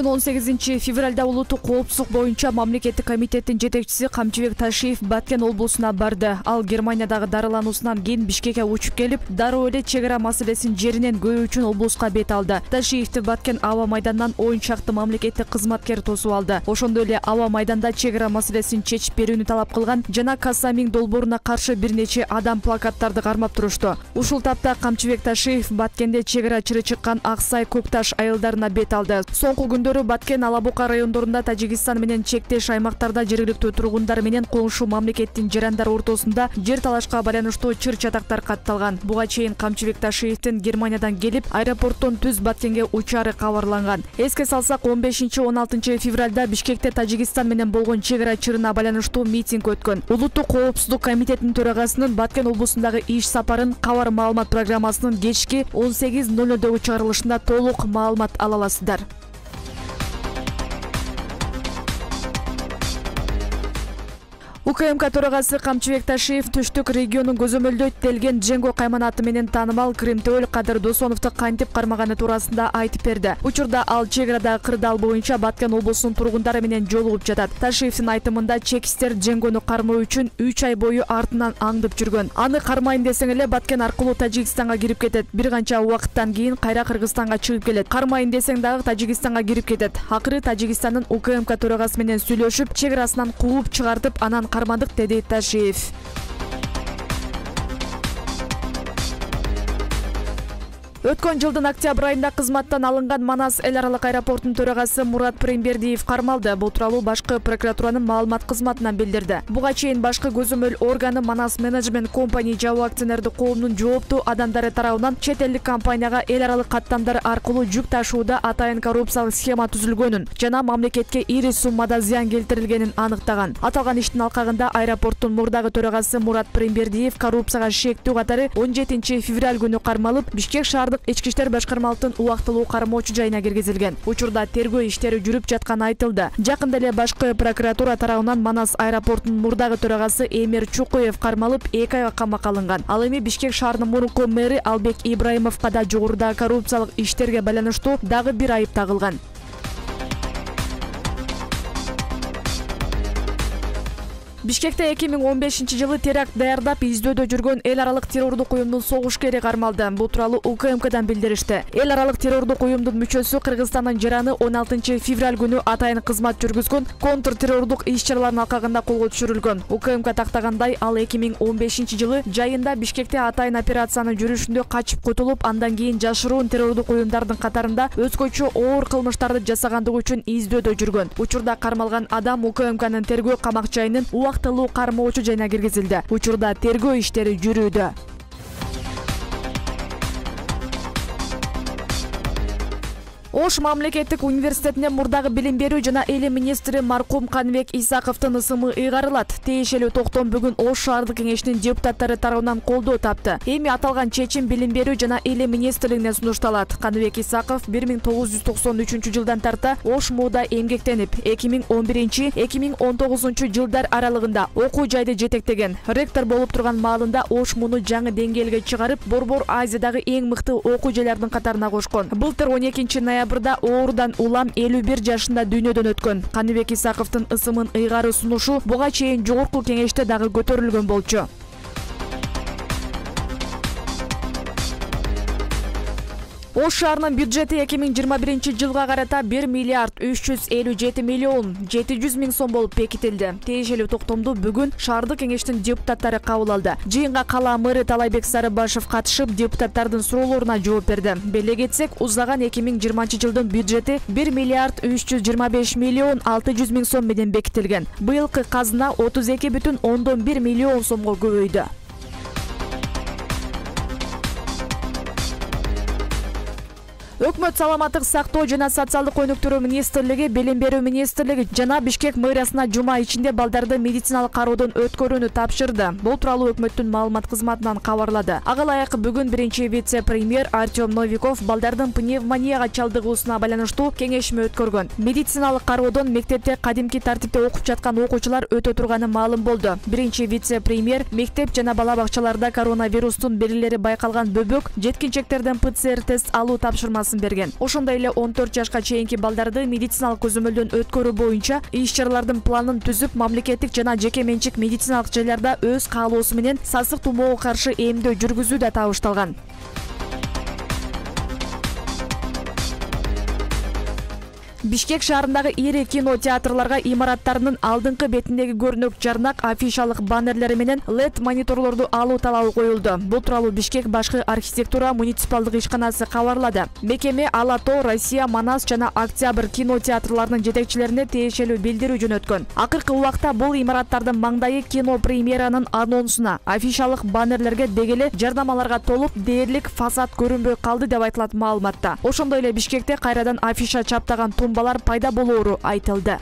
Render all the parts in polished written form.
Бүгүн 18 февралда улуттук коопсуздук боюнча мамлекеттик комитеттин жетекчиси Камчыбек Ташиев Баткен облусуна барды. Ал Германиядагы дарылануусунан кийин Бишкекке учуп келип, дароо эле чек ара маселесин жеринен көрүү үчүн облуска бет алды. Ташиевди Баткен аба майданынан 10 чакты мамлекеттик кызматкер тосуп алды. Ошондой эле аба майданда чек ара маселесин чечип берүүнү талап кылган жана Касамин долбооруна каршы бир нече адам плакаттарды кармап турушту. Ушул тапта Камчыбек Ташиев Баткенде чек ара чыры чыккан Аксай Көкташ айылдарына бет алды. Соңку күндөрү Баткен Алабука райондорунда Тажикстан менен чектеш аймактарда жергиликтүү тургундар менен коңшу мамлекеттин жарандар ортосунда жер талашка байланыштуу чыр чатактар катталган. Буга чейин Камчыбек Ташиевдин Германиядан келип, аэропорттон түз Баткенге учары кабарланган. Эске салсак, 15-16 февралда Бишкекте Тажикстан менен болгон чек ара чырына байланыштуу митинг өткөн. Улуттук коопсуздук комитетинин төрагасынын Баткен облусундагы иш сапарын кабар маалымат программасынын кечки 18:00 чыгарылышында толук маалымат ала аласыздар. УКМК төрагасы Камчыбек Ташиев Түштүк регионун көзөмөлдөйт делген Дженго кайманаты менен таанымал Кырымтөөл Кадыр Досоновду кантип кармаганы туурасында айтып берди. Учурда ал чек арадагы кырдаал боюнча Баткен облусунун тургундары менен жолугуп жатат. Ташиевдин айтымында чекистер Дженгону кармоо үчүн 3 ай бою артынан аңдып жүргөн. Аны кармайын десең эле Баткен аркылуу Тажикстанга кирип кетет. Бир канча убакыттан кийин кайра Кыргызстанга чыгып келет. Кармайын десең дагы Тажикстанга кирип кетет. Акыры Тажикстандын УКМК төрагасы менен сүйлөшүп, чек арасынан кууп чыгартып, анан кармадык, деди Ташиев. Өткөн жылдын октябрь айында кызматтан алынган Манас эл аралык аэропортунун төрагасы Мурат Прембердиев кармалды. Бул тууралуу башкы прокуратуранын маалымат кызматынан билдирди. Буга чейин башкы көзөмөл органы Манас Менеджмент Компани жабык акционердик коомунун жооптуу адамдары тарабынан чет элдик компанияга эл аралык каттамдар аркылуу жүк ташууда атайын коррупциялык схема түзүлгөнүн жана мамлекетке ири суммада зыян келтирилгенин аныктаган. Аталган иштин алкагында аэропорттун мурдагы төрагасы Мурат Прембердиев коррупцияга шектүү катары 17 февраль күнү кармалып, Бишкек шаардык Ички иштер башкармалыктын убактылуу кармоочу жайына киргизилген. Учурда тергөө иштери жүрүп жатканы айтылды. Жакында эле башкы прокуратура тарабынан Манас аэропортунун мурдагы төрагасы Эмир Чукуев кармалып 2 айга камакка алынган. Ал эми Бишкек шаарынын мурунку мэри Албек Ибраимовго да жогоруда коррупциялык иштерге байланыштуу дагы бир айып тагылган. Бишкекте 2015 теракт даярдап издөөдө жүргөн эл аралык террордук уюмдун согушкери кармалды. Бул тууралуу УКМКдан билдиришти. Эл аралык террордук уюмдун мүчөсү Кыргызстандын жараны 16 февраль күнү атайын кызмат жүргүзгөн контртеррордук иш-чаралардын алкагында колго түшүрүлгөн. УКМК тактагандай, ал 2015 жайында Бишкекте атайын операциянын жүрүшүндө качып кутулуп, андан кийин жашыруун террордук уюмдардын катарында өзгөчө оор кылмыштарды жасагандыгы үчүн издөөдө жүргөн. Учурда кармалган адам УКМКнын тергөө камак жайынын убактылуу кармоочу жайына киргизилди. Учурда тергөө иштери жүрүүдө. Ош мамлекеттик университетине мурдагы билим берүү жана эли министри маркум Каныбек Исаковдун ысымы ыйгарылат. Тиешелүү токтом бүгүн Ош шаардык кеңешинин депутаттары тарабынан колдоо тапты. Эми аталган чечим билим берүү жана эли министрлигине сунушталат. Каныбек Исаков 1993 жылдан тарта Ош МУда эмгектенип, 2011-2019 жылдар аралыгында окуу жайды жетектеген. Ректор болуп турган маалында Ош МУну жаңы деңгээлге чыгарып, Борбор Азиядагы эң мыкты окуу жайлардын катарына кошкон. Былтыр 12 ноябрда оорудан улам 51 жашында дүйнөдөн өткөн. Каныбек Исаковдун ысымын ыйгаруу сунушу буга чейин жогорку кеңеште дагы көтөрүлгөн болчу. Ош шаарынын бюджети 2021 жылга карата 1 миллиард 357 миллион 700 миң сом болуп бекитилди. Тиешелүү токтомду бүгүн шаардык кеңештин депутаттары кабыл алды. Жыйынга кала мэрі Талайбек Сарыбашев катышып, депутаттардын суроолоруна жооп берди. Беле кетсек, узаган 2020 жылдын бюджети 1 миллиард 325 миллион 600 миң сом менен бекитилген. Быйылкы казына 32,1 миллион сомго көбөйдү. Өкмөт саламаттык сактоо жана социалдык өнүктүрүү министрлиги, билим берүү министрлиги жана Бишкек мэриясына жума ичинде балдарды медициналык кароодон өткөрүүнү тапшырды. Бул тууралуу өкмөттүн маалымат кызматынан кабарлады. Ага ылайык бүгүн биринчи вице-премьер Артем Новиков балдардын пневмонияга чалдыгуусуна байланыштуу кеңешме өткөргөн. Медициналык кароодон мектепте кадимки тартипте окуп жаткан окуучулар өтө турганы маалым болду. Биринчи вице-премьер мектеп жана бала бакчаларда коронавирустун белгилери байкалган бөбөк жеткинчектерден ПЦР тест алуу тапшырмасын берген. Ошондой эле 14 жашка чейинки балдарды медициналык көзөмөлдөн өткөрүү боюнча иш-чаралардын планын түзүп, мамлекеттик жана жеке менчик медициналык жайларда өз каалоосу менен сасык тумоого каршы эмдөө жүргүзүү да табышталган. Бишкек шаарындагы ири кино театрларга имараттарынын алдыңкы бетиндеги көрүнөк жарнак, афишалык баннерлери менен LED мониторлорду алуу талабы коюлду. Бул тууралуу Бишкек башкы архитектура муниципалдык ишканасы кабарлады. Мекеме Ала Тоо, Россия, Манас жана Октябрь кино театрларынын жетекчилерине тиешелүү билдирүү жөнөткөн. Акыркы убакта бул имараттардын маңдайы кино премьеранын анонсуна, афишалык баннерлерге дегеле жарнамаларга толуп, дээрлик фасад көрүнбөй калды деп айтылат маалыматта. Ошондой эле Бишкекте кайрадан афиша чаптаган тумбалар пайда болоору айтылды.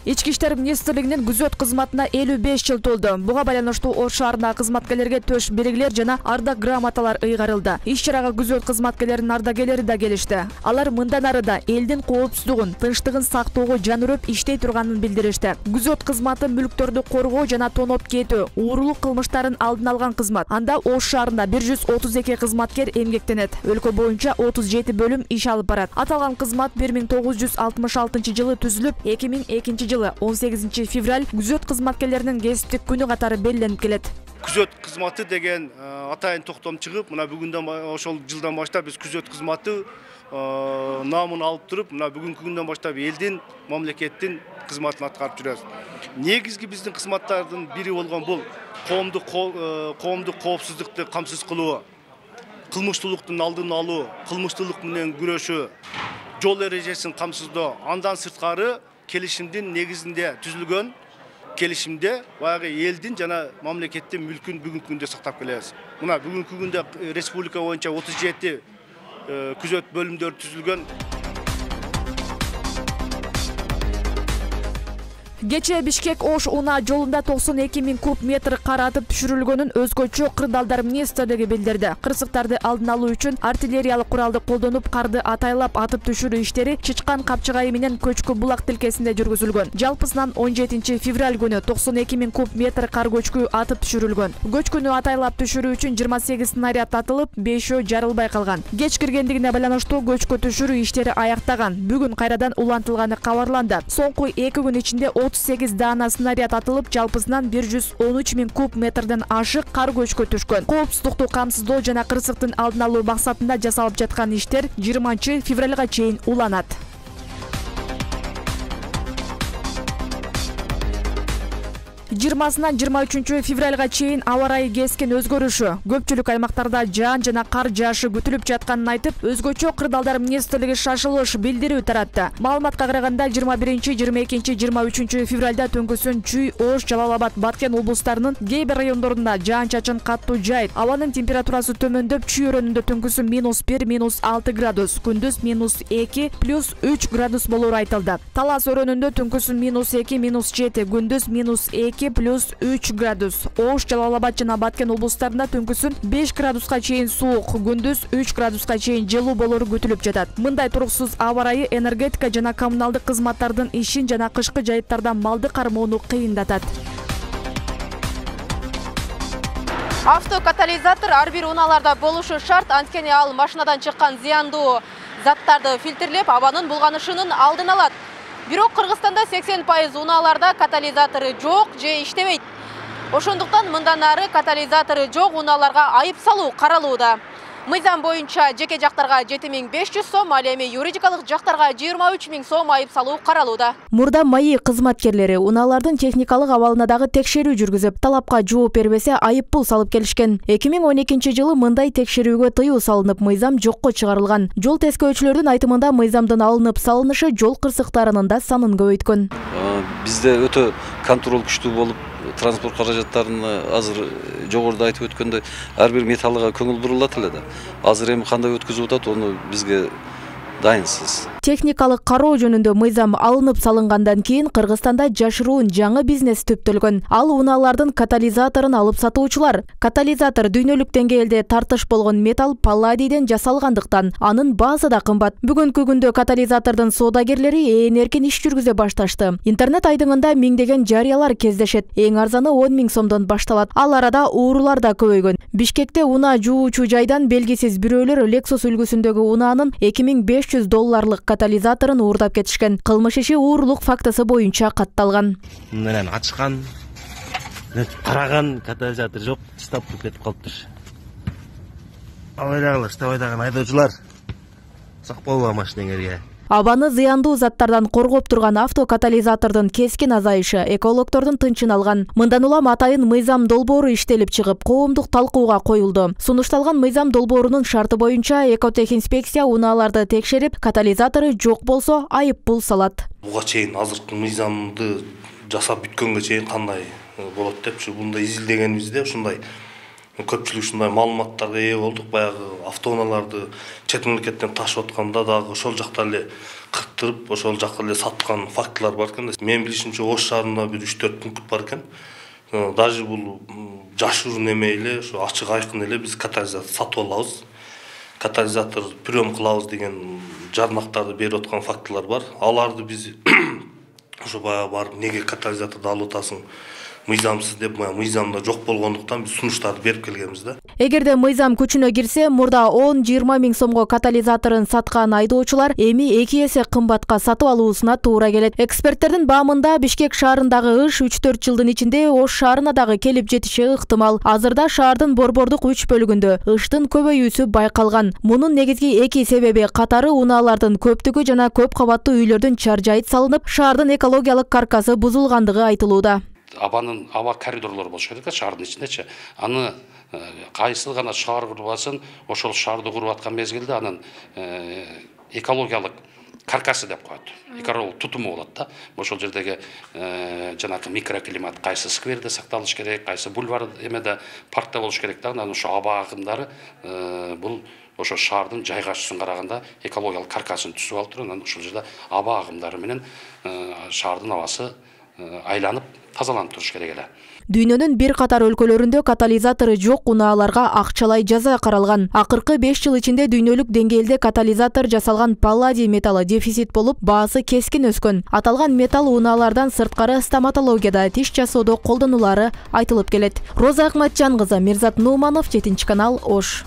Ички иштер министрлигинин күзөт кызматына 55 жыл толду. Буга байланыштуу Ош шаарындагы кызматкерлерге төш белгилер жана ардак грамоталар ыйгарылды. Иш-чарага күзөт кызматкерлеринин ардагерлери да келишти. Алар мындан ары да элдин коопсуздугун, тынчтыгын сактоого жан үрөп иштей турганын билдиришти. Күзөт кызматы мүлктөрдү коргоо жана тоноп кетүү, уурулук кылмыштарын алдын алган кызмат. Анда Ош шаарында 132 кызматкер эмгектенет. Өлкө боюнча 37 бөлүм иш алып барат. Аталган кызмат 1966 жылы түзүлүп, 2002 жылы 18 февраль күзөт кызматкерлеринин кесиптик күнү катары белгиленип келет. Күзөт кызматы деген атайын токтом чыгып, мына бүгүндөн ошол жылдан баштап биз күзөт кызматы намын алып туруп, мына бүгүнкү күндөн баштап элдин, мамлекеттин кызматын аткарып жүрөбүз. Негизги биздин кызматтардын бири болгон бул коомдук коопсуздукту камсыз кылуу, кылмыштуулуктун алдын алуу, кылмыштуулук менен күрөшүү, жол эрежесин камсыздоо. Андан сырткары келишимдин негизинде түзүлгөн келишимде баягы элдин жана мамлекеттин мүлкүн бүгүнкү күндө сактап келебиз. Мына бүгүнкү күндө республика боюнча 37 күзөт бөлүмдөрү түзүлгөн. Кече Бишкек Ош унаа жолунда 92 000 куб метр кар атып түшүрүлгөнүн өзгөчө кырдаалдар министрлиги билдирди. Кырсыктарды алдын алуу үчүн артиллериялык куралды колдонуп, карды атайлап атып түшүрүү иштери Чычкан капчыгайы менен Көчкү булак тилкесинде жүргүзүлгөн. Жалпысынан 17 февраль күнү 92 000 куб метр кар көчкү атып түшүрүлгөн. Көчкүнү атайлап түшүрүү үчүн 28 снаряд атылып, 5 жарылбай калган. Кеч киргендигине байланыштуу көчкү түшүрүү иштери аяктаган. Бүгүн кайрадан улантылганы кабарланды. Соңку 2 күн ичинде 38 даана снаряд атылып, жалпысынан 113 000 куб метрден ашык кар көчкү түшкөн. Коопсуздукту камсыздоо жана кырсыктын алдын алуу максатында жасалып жаткан иштер 20 февралга чейин уланат. 20-сынан 23 февралга чейин аба ырайы кескен өзгөрүшү, көпчүлүк аймактарда жаан жана кар жаашы күтүлүп жатканын айтып, өзгөчө кырдаалдар министрлиги шашылыш билдирүү таратты. Маалыматка караганда 21, 22, 23 февралда түнкүсүн Чүй, Ош, Жалал Абад, Баткен облустарынын кээ бир райондорунда жаан-чачын каттуу жайып, абанын температурасы төмөндөп, Чүй өрөөнүндө түнкүсүн -1, -6 градус, күндүз -2, +3 градус болору айтылды. Талас өрөөнүндө түнкүсүн -2, -7, күндүз -2, +3 градус. Ош, Жалал Абад жана Баткен облустарында түнкүсүн 5 градуска чейин суук, күндүз 3 градуска чейин жылуу болору күтүлүп жатат. Мындай туруксуз аба ырайы энергетика жана коммуналдык кызматтардын ишин жана кышкы жайыттарда малды кармоону кыйындатат. Автокатализатор ар бир унааларда болушу шарт, анткени ал машинадан чыккан зыяндуу заттарды фильтрлеп, абанын булганышынын алдын алат. Бирок Кыргызстанда 80% унааларда катализатору жок же иштебейт. Ошондуктан мындан ары катализатору жок унааларга айып салуу каралууда. Мыйзам боюнча жеке жактарга 7500 сом, ал эми юридикалык жактарга 23 000 сом айып салуу каралууда. Мурда МАИ кызматкерлери унаалардын техникалык абалына дагы текшерүү жүргүзүп, талапка жооп бербесе айып пул салып келишкен. 2012 жылы мындай текшерүүгө тыюу салынып, мыйзам жокко чыгарылган. Жол тескөөчүлөрдүн айтымында мыйзамдын алынып салынышы жол кырсыктарынын да санын көбөйткөн. Бизде өтө контроль күчтүү болуп, транспорт каражаттарын азыр жогоруда айтып өткөндөй ар бир металлга көңүл бурулат эле да. Азыр эми кандай өткөзүп атат, ону бизге дайынсыз. Техникалык кароо жөнүндө мыйзам алынып салынгандан кийин Кыргызстанда жашыруун жаңы бизнес түптөлгөн. Ал унаалардын катализаторун алып сатуучулар. Катализатор дүйнөлүк деңгээлде тартыш болгон металл палладийден жасалгандыктан анын баасы да кымбат. Бүгүнкү күндө катализатордун соодагерлери ээн эркин иш жүргүзө башташты. Интернет айдыңында миңдеген жарыялар кездешет. Эң арзаны 10 000 сомдон башталат. Ал арада уурулар да көбөйгөн. Бишкекте унаа жуучу жайдан белгисиз бирөөлөр Lexus үлгүсүндөгү унаанын $2500 катализаторун уурдап кетишкен. Кылмыш иши уурулук фактысы боюнча катталган. Мындан ачкан, караган катализатор жок, чыдап кетип калыптыр. Абайдагылар, штабайдаган айдоочулар сак болбо машинеңерге. Абаны зыяндуу заттардан коргоп турган автокатализатордун кескин азайышы экологдордун тынчын алган. Мындан улам атайын мыйзам долбоору иштелип чыгып, коомдук талкууга коюлду. Сунушталган мыйзам долбоорунун шарты боюнча экотехинспекция унааларды текшерип, катализатору жок болсо айып пул салат. Буга чейин азыркы мыйзамды жасап бүткөнгө чейин кандай болот депчи мында изилдегенибизде ушундай көпчүлүк ушундай маалыматтарга ээ болдук. Баягы автоунааларды чет мамлекеттен ташып атканда дагы ошол жакта эле кырктырып, ошол жакта эле саткан фактылар бар экен. Мен билишимче Ош шаарында бир 3-4 пункт бар экен. Даже бул жашыруун эме эле, ошо ачык айкын эле биз катализатор сатып алабыз. Катализатор прием кылабыз деген жарнактарды берип аткан фактылар бар. Аларды биз ошо баягы барып неге катализаторду алып атасың? Мыйзамсыз деп, мыйзамда жок болгондуктан биз сунуштарды берип келгенбиз да. Эгерде мыйзам күчүнө кирсе, мурда 10-20 000 сомго катализаторун саткан айдоочулар эми 2 эсе кымбатка сатып алуусуна туура келет. Эксперттердин баамында Бишкек шаарындагы ыш 3-4 жылдын ичинде Ош шаарына дагы келип жетиши ыктымал. Азырда шаардын борбордук 3 бөлүгүндө ыштын көбөйүүсү байкалган. Мунун негизги 2 себеби катары унаалардын көптүгү жана көп кабаттуу үйлөрдүн чаржайыт салынып, шаардын экологиялык каркасы бузулгандыгы айтылууда. Абанын аба коридорлору болуш керек шаардын ичиндечи. Аны кайсыл гана шаар курбасын, ошол шаарды куруп аткан мезгилде анын экологиялык каркасы деп коет. Экологиялык тутуму болот да. Ошол жердеги жанакы микроклимат кайсы скверде сакталыш керек, кайсы бульвар эмеде паркта болуш керек да. Анан ошо аба агымдары бул ошо шаардын жайгашуусуна караганда экологиялык каркасын түзүп алып туруп, анан ошол жерде аба агымдары менен шаардын абасы айланып тазаланып туруш керек эле. Дүйнөнүн бир катар өлкөлөрүндө катализатору жок унааларга акчалай жаза каралган. Акыркы 5 жыл ичинде дүйнөлүк деңгээлде катализатор жасалган палладий металлы дефицит болуп, баасы кескин өскөн. Аталган металл унаалардан сырткары стоматологияда тиш жасоодо колдонулары айтылып келет. Роза Акматжан кызы, Мирзат Нууманов, 7 канал, Ош.